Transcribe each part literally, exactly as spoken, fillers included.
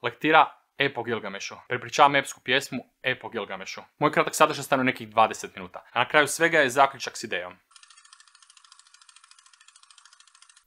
Lektira Ep o Gilgamešu. Prepričavam epsku pjesmu Ep o Gilgamešu. Moj kratak sadržaj stane u nekih dvadeset minuta, a na kraju svega je zaključak s idejom.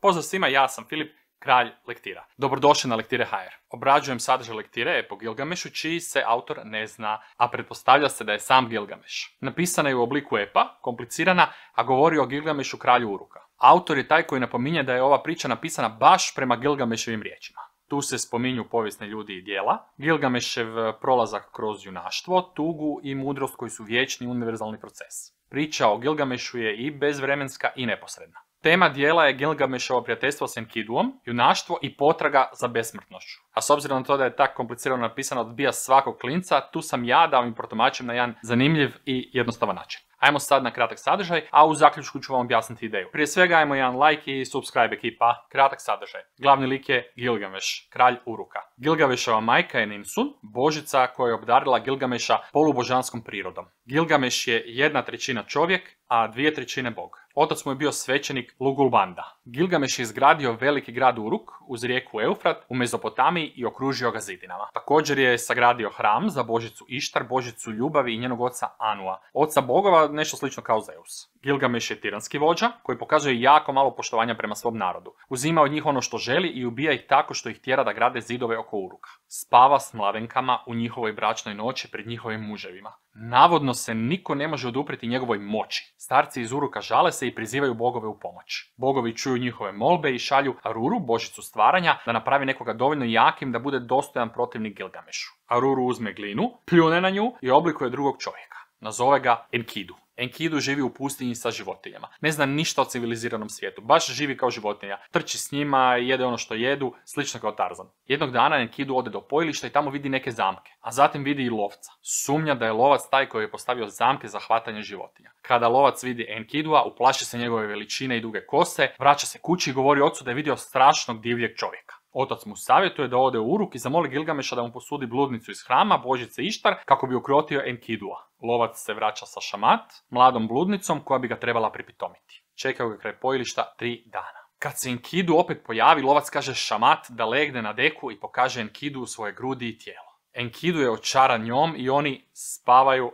Pozdrav svima, ja sam Filip, kralj lektira. Dobrodošli na Lektire ha er. Obrađujem sadržaj lektire Ep o Gilgamešu, čiji se autor ne zna, a pretpostavlja se da je sam Gilgameš. Napisana je u obliku epa, komplicirana, a govori o Gilgamešu, kralju Uruka. Autor je taj koji napominje da je ova priča napisana baš prema Gilgameševim riječima. Tu se spominju povijesni ljudi i djela, Gilgamešev prolazak kroz junaštvo, tugu i mudrost koji su vječni univerzalni proces. Priča o Gilgamešu je i bezvremenska i neposredna. Tema dijela je Gilgameševo prijateljstvo s Enkiduom, junaštvo i potraga za besmrtnošću. A s obzirom na to da je tako komplicirano napisano odbija svakog klinca, tu sam ja da vam im protumačim na jedan zanimljiv i jednostavan način. Ajmo sad na kratak sadržaj, a u zaključku ću vam objasniti ideju. Prije svega ajmo jedan like i subscribe ekipa. Kratak sadržaj. Glavni lik je Gilgameš, kralj Uruka. Gilgamešova majka je Ninsun, božica koja je obdarila Gilgameša polubožanskom prirodom. Gilgameš je jedna trećina čovjek, a dvije trećine bog. Otac mu je bio svećenik Lugulbanda. Gilgameš je izgradio veliki grad Uruk uz rijeku Eufrat u Mezopotamiji i okružio ga zidinama. Također je sagradio hram za božicu Ištar, božicu ljubavi i njenog oca Anua, oca bogova, nešto slično kao Zeus. Gilgameš je tiranski vođa koji pokazuje jako malo poštovanja prema svom narodu. Uzima od njih ono što želi i ubija ih tako što ih tjera da grade zidove oko Uruka. Spava s mladenkama u njihovoj bračnoj noći pred njihovim muževima. Navodno se niko ne može oduprijeti njegovoj moći. Starci iz Uruka žale se i prizivaju bogove u pomoć. Bogovi čuju njihove molbe i šalju Aruru, božicu stvaranja, da napravi nekoga dovoljno jakim da bude dostojan protivnik Gilgamešu. Aruru uzme glinu, pljune na nju i oblikuje drugog čovjeka. Nazove ga Enkidu. Enkidu živi u pustinji sa životinjama. Ne zna ništa o civiliziranom svijetu. Baš živi kao životinja. Trči s njima, jede ono što jedu, slično kao Tarzan. Jednog dana Enkidu ode do pojilišta i tamo vidi neke zamke. A zatim vidi i lovca. Sumnja da je lovac taj koji je postavio zamke za hvatanje životinja. Kada lovac vidi Enkidua, uplaši se njegove veličine i duge kose, vraća se kući i govori ocu da je vidio strašnog divljeg čovjeka. Otac mu savjetuje da ode u Uruk i zamoli Gilgameša da mu posudi bludnicu iz hrama božice Ištar kako bi ukrotio Enkidua. Lovac se vraća sa Šamat, mladom bludnicom koja bi ga trebala pripitomiti. Čekaju ga kraj pojilišta tri dana. Kad se Enkidu opet pojavi, lovac kaže Šamat da legne na deku i pokaže Enkidu svoje grudi i tijelo. Enkidu je očaran njom i oni spavaju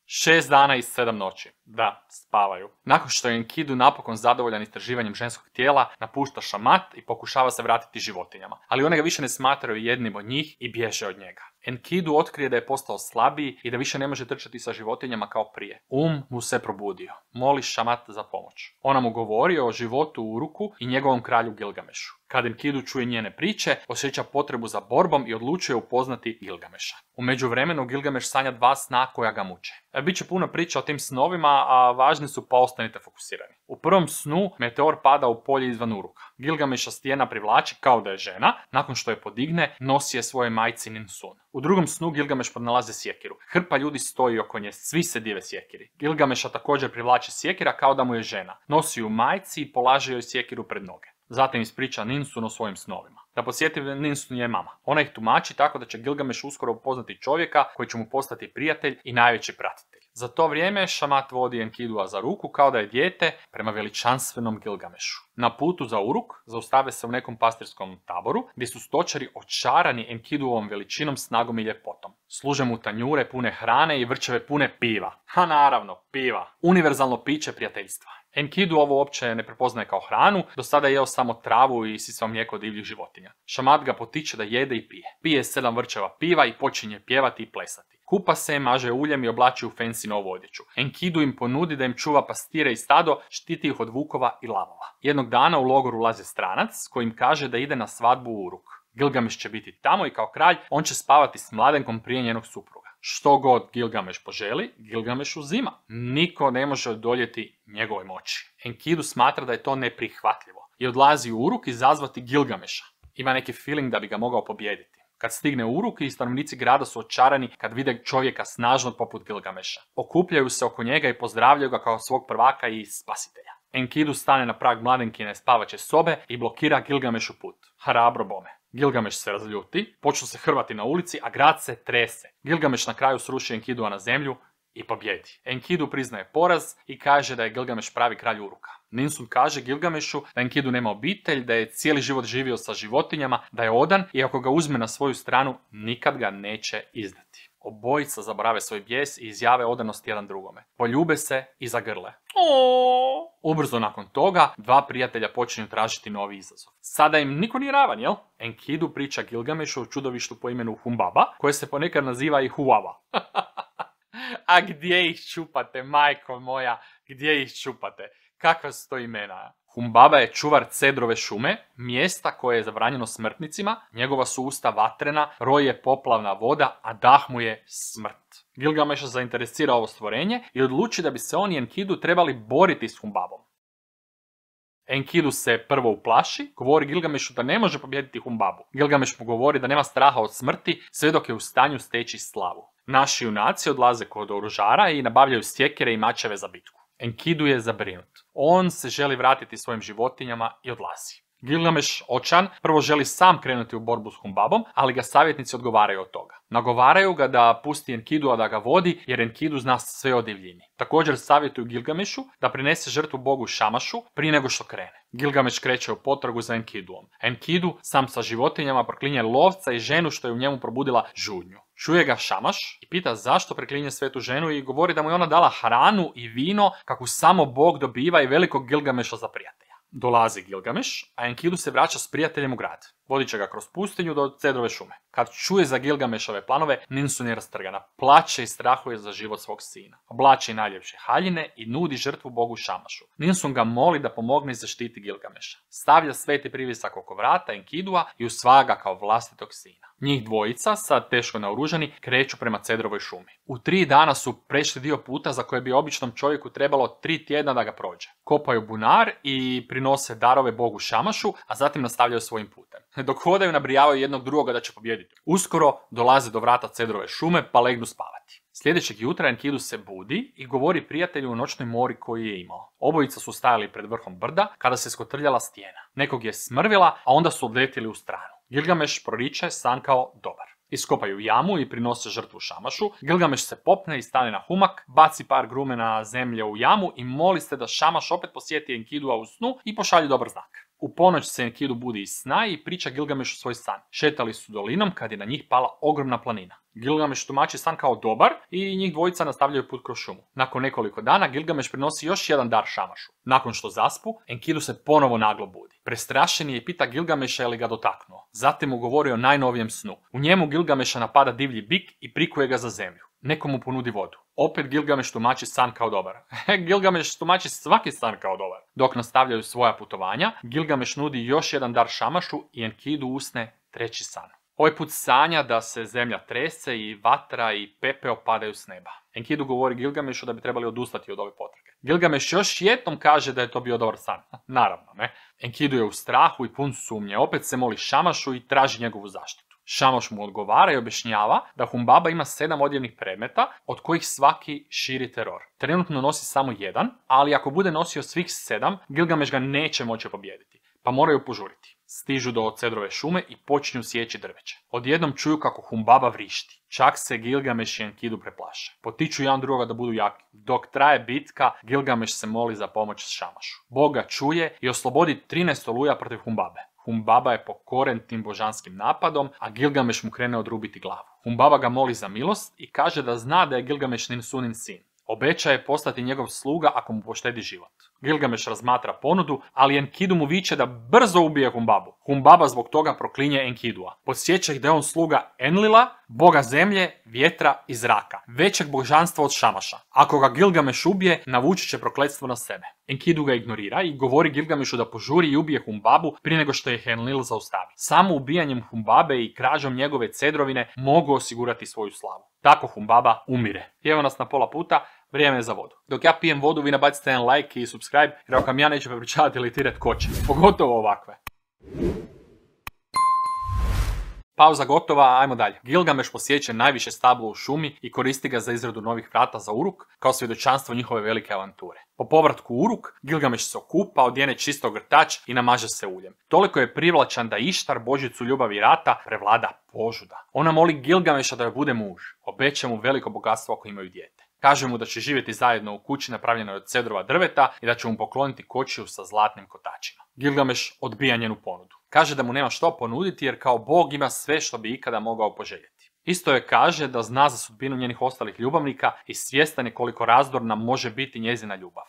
šest dana i sedam noći. Da, spavaju. Nakon što je Enkidu napokon zadovoljan istraživanjem ženskog tijela, napušta Šamat i pokušava se vratiti životinjama. Ali one ga više ne smatraju jednim od njih i bježe od njega. Enkidu otkrije da je postao slabiji i da više ne može trčati sa životinjama kao prije. Um mu se probudio. Moli Šamat za pomoć. Ona mu govori o životu u Uruku i njegovom kralju Gilgamešu. Kad Enkidu čuje njene priče, osjeća potrebu za borbom i odlučuje upoznati Gilgameša. U međuvremenu Gilgameš sanja dva sna koja ga muče. E, Biće puno priča o tim snovima, a važni su pa ostanite fokusirani. U prvom snu meteor pada u polje izvan Uruka. Gilgameša stijena privlači kao da je žena, nakon što je podigne, nosi je svoje majci Ninsun. U drugom snu Gilgameš pronalaze sjekiru. Hrpa ljudi stoji oko nje, svi se dive sjekiri. Gilgameša također privlači sjekira kao da mu je žena. Nosi ju majci i polaže joj sjekiru pred noge. Zatim ispriča Ninsun o svojim snovima. Da podsjetim, Ninsun je mama. Ona ih tumači tako da će Gilgameš uskoro upoznati čovjeka koji će mu postati prijatelj i najveći pratitelj. Za to vrijeme Šamat vodi Enkidua za ruku kao da je dijete prema veličanstvenom Gilgamešu. Na putu za Uruk zaustave se u nekom pastirskom taboru gdje su stočari očarani Enkiduovom veličinom, snagom i ljepotom. Služe mu tanjure pune hrane i vrčeve pune piva. Ha naravno, piva. Univerzalno piće prijateljstva. Enkidu ovo uopće ne prepoznaje kao hranu, do sada je jeo samo travu i sisao mlijeko divljih životinja. Šamat ga potiče da jede i pije. Pije sedam vrčeva piva i počinje pjevati i plesati. Kupa se, maže uljem i oblači u fancy novu odjeću. Enkidu im ponudi da im čuva pastire i stado, štiti ih od vukova i lavova. Jednog dana u logor ulazi stranac koji im kaže da ide na svadbu u Uruk. Gilgameš će biti tamo i kao kralj on će spavati s mladenkom prije njenog supruga. Što god Gilgameš poželi, Gilgameš uzima. Niko ne može odoljeti njegovoj moći. Enkidu smatra da je to neprihvatljivo i odlazi u Uruk izazvati Gilgameša. Ima neki feeling da bi ga mogao pobijediti. Kad stigne u Uruk i stanovnici grada su očarani kad vide čovjeka snažnog poput Gilgameša. Okupljaju se oko njega i pozdravljaju ga kao svog prvaka i spasitelja. Enkidu stane na prag mladenkine spavaće sobe i blokira Gilgamešu put. Hrabro bome. Gilgameš se razljuti, počnu se hrvati na ulici, a grad se trese. Gilgameš na kraju sruši Enkidua na zemlju i pobjedi. Enkidu priznaje poraz i kaže da je Gilgameš pravi kralj Uruka. Ninsun kaže Gilgamešu da Enkidu nema obitelj, da je cijeli život živio sa životinjama, da je odan i ako ga uzme na svoju stranu, nikad ga neće izdati. Obojica zaborave svoj bijes i izjave odanost jedan drugome. Poljube se i zagrle. Oooo. Ubrzo nakon toga, dva prijatelja počinju tražiti novi izazov. Sada im niko nije ravan, jel? Enkidu priča Gilgamešu o čudovištu po imenu Humbaba, koje se ponekad naziva i Huava. A gdje ih čupate, majko moja, gdje ih čupate? Kakva su to imena? Humbaba je čuvar cedrove šume, mjesta koje je zabranjeno smrtnicima, njegova su usta vatrena, roj je poplavna voda, a dah mu je smrt. Gilgameša zainteresira ovo stvorenje i odluči da bi se on i Enkidu trebali boriti s Humbabom. Enkidu se prvo uplaši, govori Gilgamešu da ne može pobijediti Humbabu. Gilgameš mu govori da nema straha od smrti sve dok je u stanju steći slavu. Naši junaci odlaze kod oružara i nabavljaju sjekire i mačeve za bitku. Enkidu je zabrinut. On se želi vratiti svojim životinjama i odlazi. Gilgameš, očan, prvo želi sam krenuti u borbu s Humbabom, ali ga savjetnici odgovaraju od toga. Nagovaraju ga da pusti Enkidua da ga vodi, jer Enkidu zna sve o divljini. Također savjetuju Gilgamešu da prinese žrtvu bogu Šamašu prije nego što krene. Gilgameš kreće u potragu za Enkiduom. Enkidu, sam sa životinjama, proklinje lovca i ženu što je u njemu probudila žudnju. Čuje ga Šamaš i pita zašto preklinje svetu ženu i govori da mu je ona dala hranu i vino kakvu samo Bog dobiva i velikog Gilgameša za prijatelja. Dolazi Gilgameš, a Enkidu se vraća s prijateljem u grad. Vodit će ga kroz pustinju do cedrove šume. Kad čuje za Gilgamešove planove, Ninsun je rastrgana. Plače i strahuje za život svog sina. Oblači najljepše haljine i nudi žrtvu bogu Šamašu. Ninsun ga moli da pomogne i zaštiti Gilgameša. Stavlja sveti privisak oko vrata Enkidua i usvaja ga kao vlastitog sina. Njih dvojica, sad teško naoružani, kreću prema cedrovoj šumi. U tri dana su prešli dio puta za koje bi običnom čovjeku trebalo tri tjedna da ga prođe. Kopaju bunar i prinose darove bogu Šamašu, a zatim nastavljaju svojim putem. Dok hodaju nabrijavaju jednog drugoga da će pobijediti. Uskoro dolaze do vrata cedrove šume pa legnu spavati. Sljedećeg jutra Enkidu se budi i govori prijatelju o noćnoj mori koju je imao. Obojica su stajali pred vrhom brda kada se skotrljala stijena. Nekog je smrvila, a onda su odletili u stranu. Gilgameš proriče san kao dobar. Iskopaju jamu i prinose žrtvu Šamašu. Gilgameš se popne i stane na humak, baci par grumena zemlje u jamu i moli se da Šamaš opet posjeti Enkidua u snu i pošalje dobar znak. U ponoć se Enkidu budi iz sna i priča Gilgamešu svoj san. Šetali su dolinom kad je na njih pala ogromna planina. Gilgameš tumači san kao dobar i njih dvojica nastavljaju put kroz šumu. Nakon nekoliko dana Gilgameš prinosi još jedan dar Šamašu. Nakon što zaspu, Enkidu se ponovo naglo budi. Prestrašen je i pita Gilgameša je li ga dotaknuo. Zatim mu govori o najnovijem snu. U njemu Gilgameša napada divlji bik i prikuje ga za zemlju. Neko mu ponudi vodu. Opet Gilgameš tumači san kao dobar. Gilgameš tumači svaki san kao dobar. Dok nastavljaju svoja putovanja, Gilgameš nudi još jedan dar Šamašu i Enkidu usne treći san. Ovaj put sanja da se zemlja trese i vatra i pepeo padaju s neba. Enkidu govori Gilgamešu da bi trebali odustati od ove potrage. Gilgameš još jednom kaže da je to bio dobar san. Naravno, ne. Enkidu je u strahu i pun sumnje. Opet se moli Šamašu i traži njegovu zaštitu. Šamaš mu odgovara i objašnjava da Humbaba ima sedam odjevnih predmeta, od kojih svaki širi teror. Trenutno nosi samo jedan, ali ako bude nosio svih sedam, Gilgameš ga neće moći pobijediti, pa moraju požuriti. Stižu do cedrove šume i počinju sjeći drveće. Odjednom čuju kako Humbaba vrišti. Čak se Gilgameš i Enkidu preplaše. Potiču jedan drugoga da budu jaki. Dok traje bitka, Gilgameš se moli za pomoć Šamašu. Bog ga čuje i oslobodi trinaest oluja protiv Humbabe. Humbaba je pokoren tim božanskim napadom, a Gilgameš mu krene odrubiti glavu. Humbaba ga moli za milost i kaže da zna da je Gilgameš Ninsunin sin. Obećaje postati njegov sluga ako mu poštedi život. Gilgameš razmatra ponudu, ali Enkidu mu viče da brzo ubije Humbabu. Humbaba zbog toga proklinje Enkidua. Podsjeća ih da je on sluga Enlila, boga zemlje, vjetra i zraka, većeg božanstva od Šamaša. Ako ga Gilgameš ubije, navući će prokletstvo na sebe. Enkidu ga ignorira i govori Gilgamešu da požuri i ubije Humbabu prije nego što je Enlil zaustavi. Samo ubijanjem Humbabe i krađom njegove cedrovine mogu osigurati svoju slavu. Tako Humbaba umire. Evo nas na pola puta, vrijeme je za vodu. Dok ja pijem vodu, vi nabacite jedan like i subscribe, jer ako vam ja neću prepričavati ili tiret koče. Pogotovo ovakve. Pauza gotova, ajmo dalje. Gilgameš posjeće najviše stablo u šumi i koristi ga za izradu novih vrata za Uruk, kao svjedočanstvo njihove velike avanture. Po povratku u Uruk, Gilgameš se okupa, odjene čisto grtač i namaže se uljem. Toliko je privlačan da Ištar, božicu ljubavi i rata, prevlada požuda. Ona moli Gilgameša da joj bude muž. Obeća mu veliko bogatstvo ako imaju dijete. Kaže mu da će živjeti zajedno u kući napravljenoj od cedrova drveta i da će mu pokloniti kočiju sa zlatnim kotačima. Gilgameš odbija njenu ponudu. Kaže da mu nema što ponuditi jer kao bog ima sve što bi ikada mogao poželjeti. Isto je kaže da zna za sudbinu njenih ostalih ljubavnika i svjestan je koliko razdorna može biti njezina ljubav.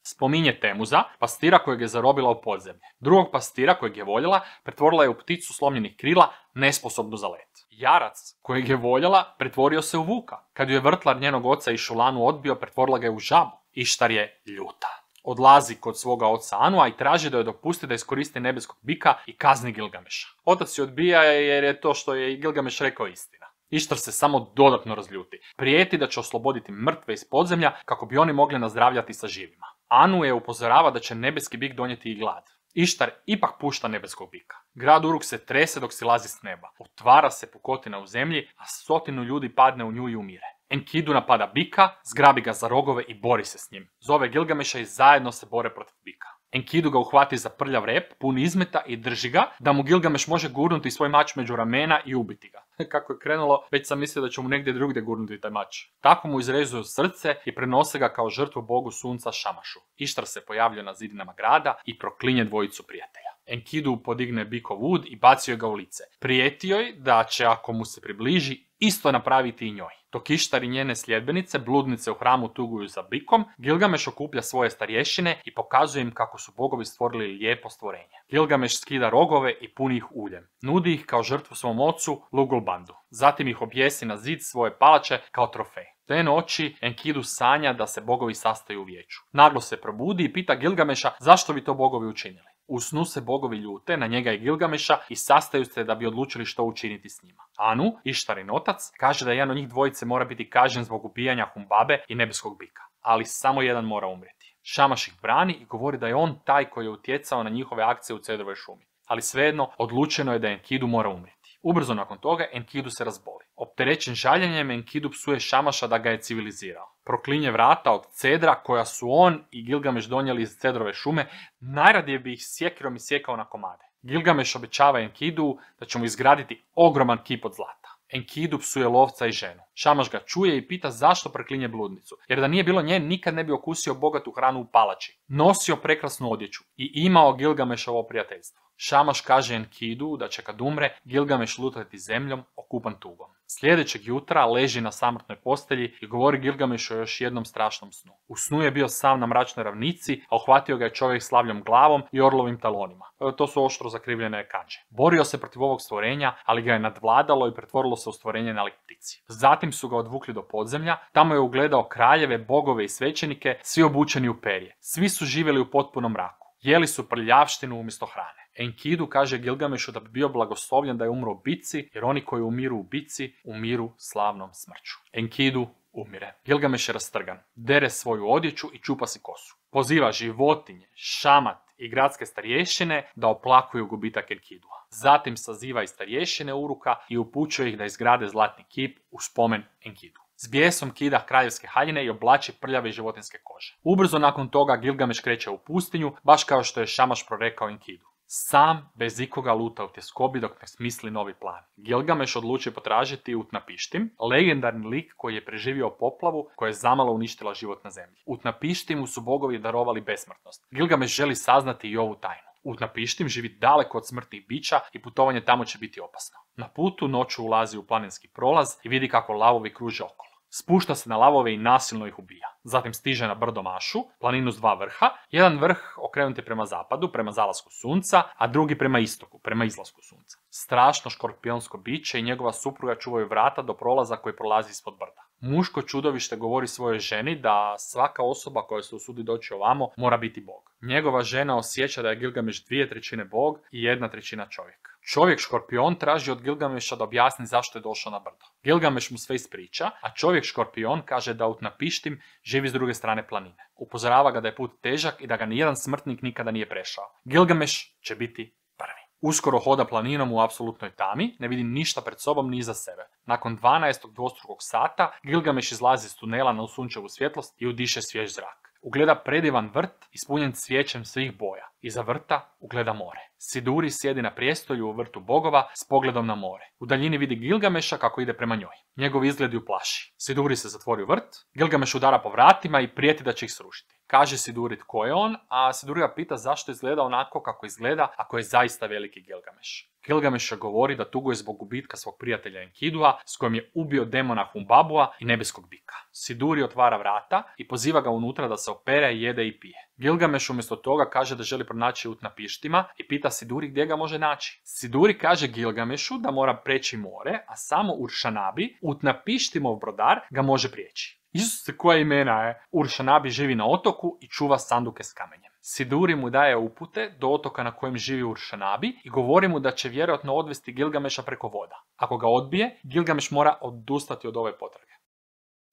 Spominje Temuza, pastira kojeg je zarobila u podzemlje. Drugog pastira kojeg je voljela, pretvorila je u pticu slomljenih krila, nesposobnu za let. Jarac kojeg je voljela, pretvorio se u vuka. Kad ju je vrtlar njenog oca i Šulanu odbio, pretvorila ga je u žabu. Ištar je ljuta. Odlazi kod svoga oca Anua i traži da joj dopusti da iskoristi nebeskog bika i kazni Gilgameša. Otac je odbija jer je to što je i Gilgameš rekao istina. Ištar se samo dodatno razljuti. Prijeti da će osloboditi mrtve iz podzemlja kako bi oni mogli nazdravljati sa živima. Anu je upozorava da će nebeski bik donijeti i glad. Ištar ipak pušta nebeskog bika. Grad Uruk se trese dok silazi s neba. Otvara se pukotina u zemlji, a stotinu ljudi padne u nju i umire. Enkidu napada bika, zgrabi ga za rogove i bori se s njim. Zove Gilgameša i zajedno se bore protiv bika. Enkidu ga uhvati za prljav rep, pun izmeta i drži ga, da mu Gilgameš može gurnuti svoj mač među ramena i ubiti ga. Kako je krenulo, već sam mislio da će mu negdje drugdje gurnuti taj mač. Tako mu izrezuju srce i prenose ga kao žrtvu bogu sunca Šamašu. Ištar se pojavljuje na zidinama grada i proklinje dvojicu prijatelja. Enkidu podigne bikov ud i bacio ga u lice. Prijeti joj da će, ako mu se približi, isto napraviti i njoj. Dok Ištar i njene sljedbenice, bludnice u hramu tuguju za bikom, Gilgameš okuplja svoje starješine i pokazuje im kako su bogovi stvorili lijepo stvorenje. Gilgameš skida rogove i puni ih uljem. Nudi ih kao žrtvu svom ocu Lugulbandu. Zatim ih objesi na zid svoje palače kao trofej. Te noći Enkidu sanja da se bogovi sastaju u vijeću. Naglo se probudi i pita Gilgameša zašto bi to bogovi učinili. U snu se bogovi ljute na njega i Gilgameša i sastaju se da bi odlučili što učiniti s njima. Anu, Ištarin otac, kaže da jedan od njih dvojice mora biti kažnjen zbog ubijanja Humbabe i nebeskog bika. Ali samo jedan mora umrijeti. Šamaš ih brani i govori da je on taj koji je utjecao na njihove akcije u cedrovoj šumi. Ali svejedno, odlučeno je da Enkidu mora umrijeti. Ubrzo nakon toga Enkidu se razboli. Opterećen žaljenjem, Enkidu psuje Šamaša da ga je civilizirao. Proklinje vrata od cedra koja su on i Gilgameš donijeli iz cedrove šume, najradije bi ih sjekirom isjekao na komade. Gilgameš obećava Enkidu da će mu izgraditi ogroman kip od zlata. Enkidu psuje lovca i ženu. Šamaš ga čuje i pita zašto preklinje bludnicu, jer da nije bilo nje nikad ne bi okusio bogatu hranu u palači. Nosio prekrasnu odjeću i imao Gilgamešovo prijateljstvo. Šamaš kaže Enkidu da će kad umre Gilgameš lutati zemljom okupan tugom. Sljedećeg jutra leži na samrtnoj postelji i govori Gilgamešu o još jednom strašnom snu. U snu je bio sam na mračnoj ravnici, a uhvatio ga je čovjek s lavljom glavom i orlovim talonima. To su oštro zakrivljene kanđe. Borio se protiv ovog stvorenja, ali ga je nadvladalo i pretvorilo se u stvorenje na lik ptici. Zatim su ga odvukli do podzemlja, tamo je ugledao kraljeve, bogove i svećenike, svi obučeni u perje. Svi su živjeli u potpunom mraku. Jeli su prljavštinu umjesto hrane. Enkidu kaže Gilgamešu da bi bio blagoslovljen da je umro u bici, jer oni koji umiru u bici, umiru slavnom smrću. Enkidu umire. Gilgameš je rastrgan, dere svoju odjeću i čupa si kosu. Poziva životinje, šamat i gradske starješine da oplakuju gubitak Enkidua. Zatim saziva i starješine Uruka i upućuje ih da izgrade zlatni kip u spomen Enkidu. S bijesom kida kraljevske haljine i oblači prljave životinske kože. Ubrzo nakon toga Gilgameš kreće u pustinju, baš kao što je Šamaš prorekao Enkidu. Sam, bez ikoga luta u tjeskobi dok ne smisli novi plan. Gilgameš odluči potražiti Utnapištim, legendarni lik koji je preživio poplavu koja je zamalo uništila život na zemlji. Utnapištimu su bogovi darovali besmrtnost. Gilgameš želi saznati i ovu tajnu. Utnapištim živi daleko od smrtnih bića i putovanje tamo će biti opasno. Na putu noću ulazi u planinski prolaz i vidi kako lavovi kruže okolo. Spušta se na lavove i nasilno ih ubija. Zatim stiže na brdo Mašu, planinu s dva vrha. Jedan vrh okrenut je prema zapadu, prema zalasku sunca, a drugi prema istoku, prema izlasku sunca. Strašno škorpionsko biće i njegova supruga čuvaju vrata do prolaza koji prolazi ispod brda. Muško čudovište govori svojoj ženi da svaka osoba koja se usudi doći ovamo mora biti bog. Njegova žena osjeća da je Gilgameš dvije trećine bog i jedna trećina čovjek. Čovjek škorpion traži od Gilgameša da objasni zašto je došao na brdo. Gilgameš mu sve ispriča, a čovjek škorpion kaže da Utnapištim živi s druge strane planine. Upozorava ga da je put težak i da ga nijedan smrtnik nikada nije prešao. Gilgameš će biti prvi. Uskoro hoda planinom u apsolutnoj tami, ne vidi ništa pred sobom ni iza sebe. Nakon dvanaestog dvostrukog sata, Gilgameš izlazi iz tunela na sunčevu svjetlost i udiše svjež zrak. ugleda predivan vrt ispunjen cvijećem svih boja. Iza vrta ugleda more. Siduri sjedi na prijestolju u vrtu bogova s pogledom na more. U daljini vidi Gilgameša kako ide prema njoj. Njegov izgled ju plaši. Siduri se zatvori u vrt, Gilgameš udara po vratima i prijeti da će ih srušiti. Kaže Siduri tko je on, a Siduri ga pita zašto izgleda onako kako izgleda ako je zaista veliki Gilgameš. Gilgameš govori da tuguje zbog gubitka svog prijatelja Enkidua s kojim je ubio demona Humbabua i nebeskog bika. Siduri otvara vrata i poziva ga unutra da se opere, jede i pije. Gilgameš umjesto toga kaže da želi pronaći Utnapištima i pita Siduri gdje ga može naći. Siduri kaže Gilgamešu da mora preći more, a samo Uršanabi, Utnapištimov brodar, ga može prijeći. Isuse, koja imena je? Uršanabi živi na otoku i čuva sanduke s kamenjem. Siduri mu daje upute do otoka na kojem živi Uršanabi i govori mu da će vjerojatno odvesti Gilgameša preko voda. Ako ga odbije, Gilgameš mora odustati od ove potrage.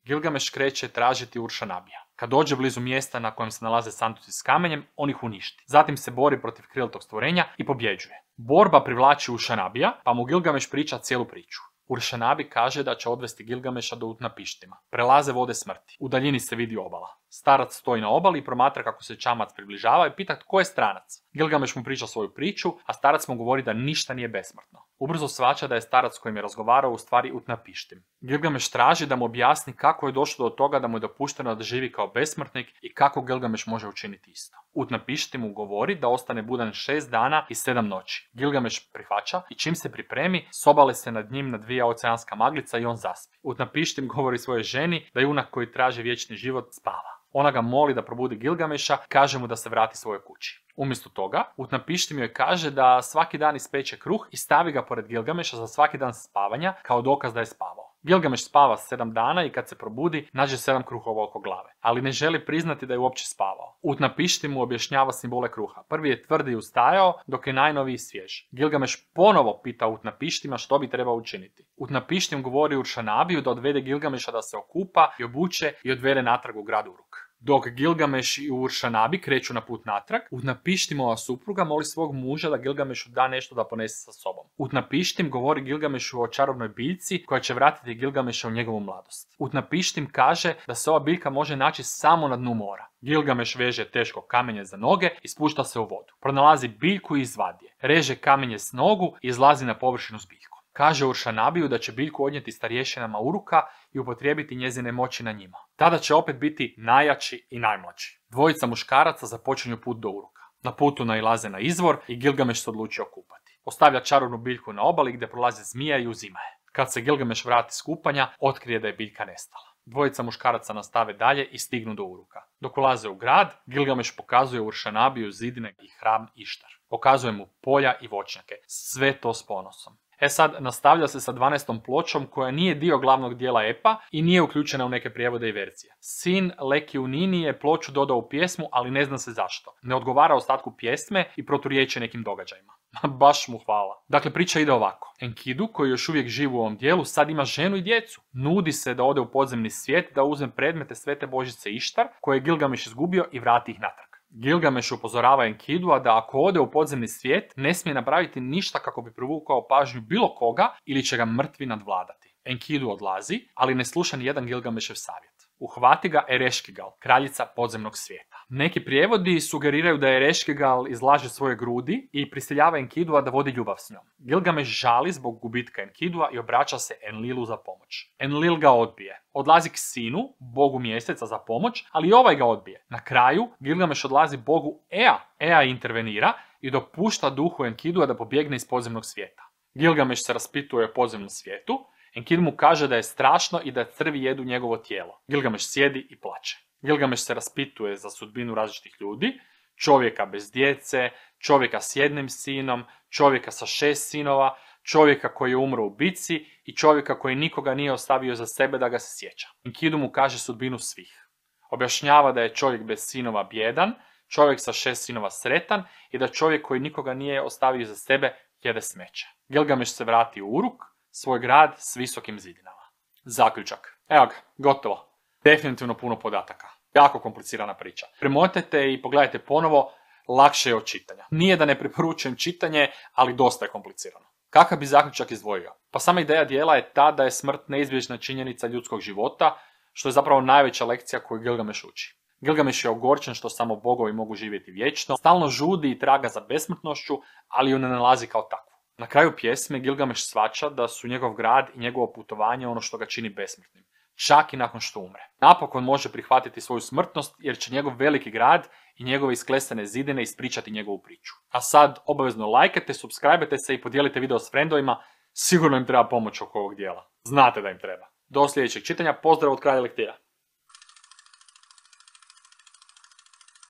Gilgameš kreće tražiti Uršanabija. Kad dođe blizu mjesta na kojem se nalaze sanduci s kamenjem, on ih uništi. Zatim se bori protiv krilatog stvorenja i pobjeđuje. Borba privlači Uršanabija, pa mu Gilgameš priča cijelu priču. Uršanabi kaže da će odvesti Gilgameša do Utnapištima. Prelaze vode smrti. U daljini se vidi obala. Starac stoji na obali i promatra kako se čamac približava i pita tko je stranac. Gilgameš mu priča svoju priču, a starac mu govori da ništa nije besmrtno. Ubrzo shvaća da je starac s kojim je razgovarao u stvari Utnapištim. Gilgameš traži da mu objasni kako je došlo do toga da mu je dopušteno da živi kao besmrtnik i kako Gilgameš može učiniti isto. Utnapištim mu govori da ostane budan šest dana i sedam noći. Gilgameš prihvaća i čim se pripremi, sobale se nad njim nadvija oceanska maglica i on zaspi. Utnapištim govori svojoj ženi da junak koji traži vječni život spava. Ona ga moli da probudi Gilgameša, kaže mu da se vrati svojoj kući. Umjesto toga, Utnapištim joj kaže da svaki dan ispeče kruh i stavi ga pored Gilgameša za svaki dan spavanja kao dokaz da je spavao. Gilgameš spava sedam dana i kad se probudi, nađe sedam kruhova oko glave, ali ne želi priznati da je uopće spavao. Utnapištim mu objašnjava simbole kruha. Prvi je tvrdi i ustajao, dok je najnoviji svjež. Gilgameš ponovo pita Utnapištima što bi trebao učiniti. Utnapištim govori Uršanabiju da odvede Gilgameša da se okupa i obuče i odvede natrag u grad Uruk. Dok Gilgameš i Uršanabi kreću na put natrag, Utnapištimova supruga moli svog muža da Gilgamešu da nešto da ponese sa sobom. Utnapištim govori Gilgamešu o čarobnoj biljci koja će vratiti Gilgameša u njegovu mladost. Utnapištim kaže da se ova biljka može naći samo na dnu mora. Gilgameš veže teško kamenje za noge i spušta se u vodu. Pronalazi biljku i izvadi je. Reže kamenje s nogu i izlazi na površinu s biljkom. Kaže Uršanabiju da će biljku odnijeti starješinama Uruka i upotrijebiti njezine moći na njima. Tada će opet biti najjači i najmlađi. Dvojica muškaraca započinju put do Uruka. Na putu nailaze na izvor i Gilgameš se odluči okupati. Ostavlja čarobnu biljku na obali gdje prolazi zmija i uzima je. Kad se Gilgameš vrati s kupanja, otkrije da je biljka nestala. Dvojica muškaraca nastave dalje i stignu do Uruka. Dok ulaze u grad, Gilgameš pokazuje Uršanabiju zidine i hram Ištar. Pokazuje mu polja i voćnjake. Sve to s ponosom. E sad, nastavlja se sa dvanaestom pločom koja nije dio glavnog dijela epa i nije uključena u neke prijevode i verzije. Sin Lekiunini je ploču dodao u pjesmu, ali ne zna se zašto. Ne odgovara ostatku pjesme i proturječi nekim događajima. Baš mu hvala. Dakle, priča ide ovako. Enkidu, koji još uvijek živi u ovom dijelu, sad ima ženu i djecu. Nudi se da ode u podzemni svijet, da uzme predmete svete božice Ištar, koje je Gilgameš izgubio i vrati ih natrag. Gilgameš upozorava Enkidua da ako ode u podzemni svijet, ne smije napraviti ništa kako bi privukao pažnju bilo koga ili će ga mrtvi nadvladati. Enkidu odlazi, ali ne sluša ni jedan Gilgamešev savjet. Uhvati ga Ereškigal, kraljica podzemnog svijeta. Neki prijevodi sugeriraju da Ereškigal izlaže svoje grudi i prisiljava Enkidua da vodi ljubav s njom. Gilgameš žali zbog gubitka Enkidua i obraća se Enlilu za pomoć. Enlil ga odbije. Odlazi k sinu, bogu mjeseca, za pomoć, ali i ovaj ga odbije. Na kraju, Gilgameš odlazi bogu Ea. Ea intervenira i dopušta duhu Enkidua da pobjegne iz podzemnog svijeta. Gilgameš se raspituje o podzemnom svijetu. Enkidu mu kaže da je strašno i da crvi jedu njegovo tijelo. Gilgameš sjedi i plače. Gilgameš se raspituje za sudbinu različitih ljudi, čovjeka bez djece, čovjeka s jednim sinom, čovjeka sa šest sinova, čovjeka koji je umro u bitci i čovjeka koji nikoga nije ostavio za sebe da ga se sjeća. Enkidu mu kaže sudbinu svih. Objašnjava da je čovjek bez sinova bjedan, čovjek sa šest sinova sretan i da čovjek koji nikoga nije ostavio za sebe jede smeće. Gilgameš se vrati u Uruk, svoj grad s visokim zidinama. Zaključak. Evo ga, gotovo. Definitivno puno podataka. Jako komplicirana priča. Premotajte i pogledajte ponovo, lakše je od čitanja. Nije da ne preporučujem čitanje, ali dosta je komplicirano. Kakav bi zaključak izdvojio? Pa sama ideja dijela je ta da je smrt neizbježna činjenica ljudskog života, što je zapravo najveća lekcija koju Gilgameš uči. Gilgameš je ogorčen što samo bogovi mogu živjeti vječno, stalno žudi i traga za besmrtnošću, ali ju ne nalazi kao takvu. Na kraju pjesme Gilgameš shvaća da su njegov grad i njegovo putovanje ono što ga čini besmrtnim, čak i nakon što umre. Napokon može prihvatiti svoju smrtnost jer će njegov veliki grad i njegove isklesane zidine ispričati njegovu priču. A sad obavezno lajkajte, subscribe-te se i podijelite video s frendovima, sigurno im treba pomoć oko ovog dijela. Znate da im treba. Do sljedećeg čitanja, pozdrav od Kralja Lektira.